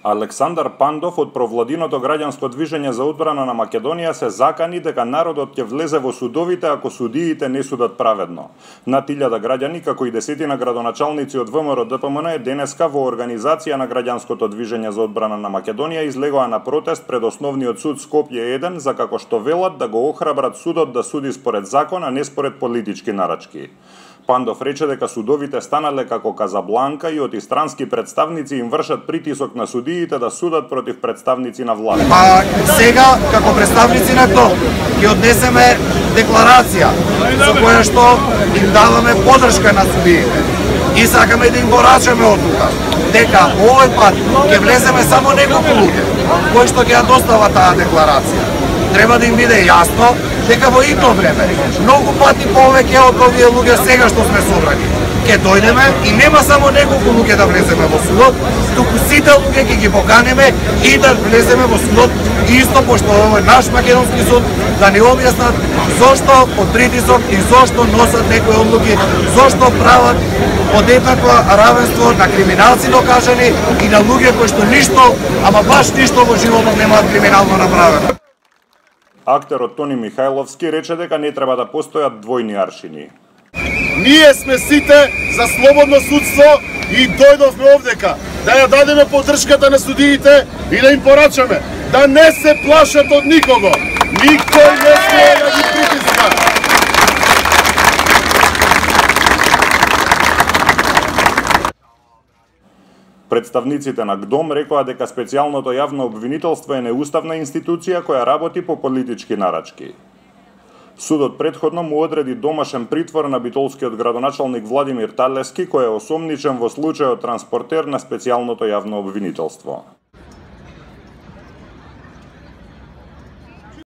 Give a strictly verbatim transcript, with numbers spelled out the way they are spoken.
Александар Пандов од Провладиното граѓанско движење за одбрана на Македонија се закани дека народот ќе влезе во судовите ако судиите не судат праведно. Над илјада граѓани, како и десетина градоначалници од ВМРО Д П М Н денеска во организација на граѓанското движење за одбрана на Македонија излегоа на протест пред Основниот суд Скопје еден за како што велат да го охрабрат судот да суди според закон, а не според политички нарачки. Пандов рече дека судовите станале како Казабланка и отистрански представници им вршат притисок на судиите да судат против представници на власт. А сега, како представници на ТО, ќе однесеме декларација за која што им даваме поддршка на судиите. И сакаме да им порачаме одлука дека овој пат ќе влеземе само неколку луѓе кои што ќе ја достава таа декларација. Треба да им биде јасно дека во ито време многу пати повеќе од овие луѓе сега што сме собрани ќе дојдеме и нема само неколку луѓе да влеземе во судот, туку сите луѓе ќе ги поканеме и да влеземе во судот исто пошто овој наш македонски суд да ни објаснат зошто од притисок и зошто носат некои одлуки, зошто прават одеднакво равенство на криминалци докажани и на луѓе кои што ништо, ама баш ништо во животот немаат криминално направено. Актерот Тони Михајловски рече дека не треба да постојат двојни аршини. Ние сме сите за слободно судство и дојдовме овдека да ја дадеме поддршката на судиите и да им порачаме да не се плашат од никого. Никој не смее да ги притиска. Представниците на ГДОМ рекоа дека специјалното јавно обвинителство е неуставна институција која работи по политички нарачки. Судот претходно му одреди домашен притвор на битолскиот градоначалник Владимир Талески, кој е осомничен во случајот транспортер на специјалното јавно обвинителство.